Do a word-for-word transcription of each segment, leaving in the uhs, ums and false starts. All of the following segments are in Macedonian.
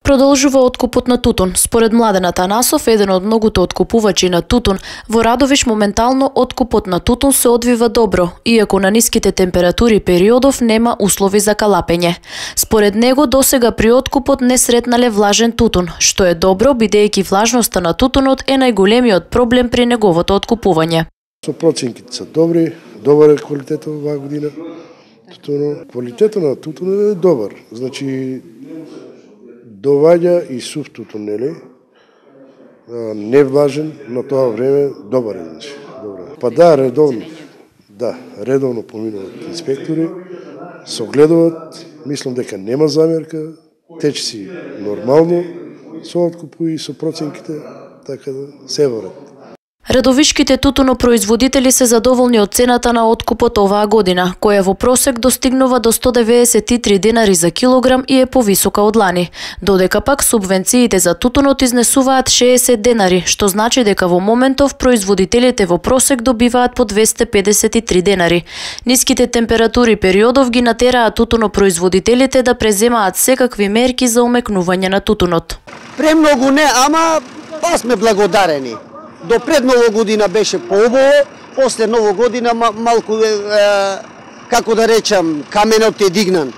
Продолжува откупот на тутун. Според Младен Атанасов, еден од многуто откупувачи на тутун, во Радовиш моментално откупот на тутун се одвива добро, иако на ниските температури периодов нема услови за калапење. Според него, досега при откупот не сретнале влажен тутун, што е добро, бидејќи влажноста на тутунот е најголемиот проблем при неговото откупување. Со проценките се добри, добар е квалитетот оваа година. Тутуно, квалитетот на тутун е добар. Значи, доваѓа и сув тутун, нели? Не влажен, на тоа време добар е, значи. Добро. Па да, редовно. Да, редовно поминуваат инспектори, согледуваат, мислам дека нема замерка, тече си нормално со откупу и со проценките, така да се ворат. Радовишките тутунопроизводители се задоволни од цената на откупот оваа година, која во просек достигнува до сто деведесет и три денари за килограм и е повисока од лани. Додека пак субвенциите за тутунот изнесуваат шеесет денари, што значи дека во моментов производителите во просек добиваат по двесте педесет и три денари. Ниските температури периодов ги натераат тутунопроизводителите да преземаат секакви мерки за омекнување на тутунот. Премногу не, ама па сме благодарени. До пред Нова година беше поубаво, после Нова година малку, е, како да речам, каменот е дигнан.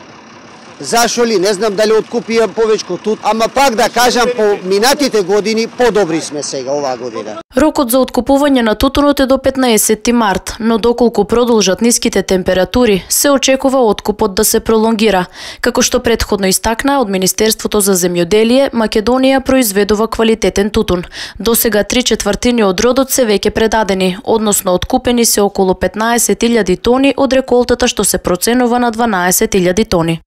Зашо ли? Не знам дали откупија повеќе тут, ама пак да кажам, по минатите години подобри сме сега оваа година. Рокот за откупување на тутунот е до петнаесетти март, но доколку продолжат ниските температури, се очекува откупот да се пролонгира. Како што претходно истакна од Министерството за земјоделие, Македонија произведува квалитетен тутун. Досега три четвртини од родот се веќе предадени, односно откупени се околу петнаесет илјади тони од реколтата што се проценува на дванаесет илјади тони.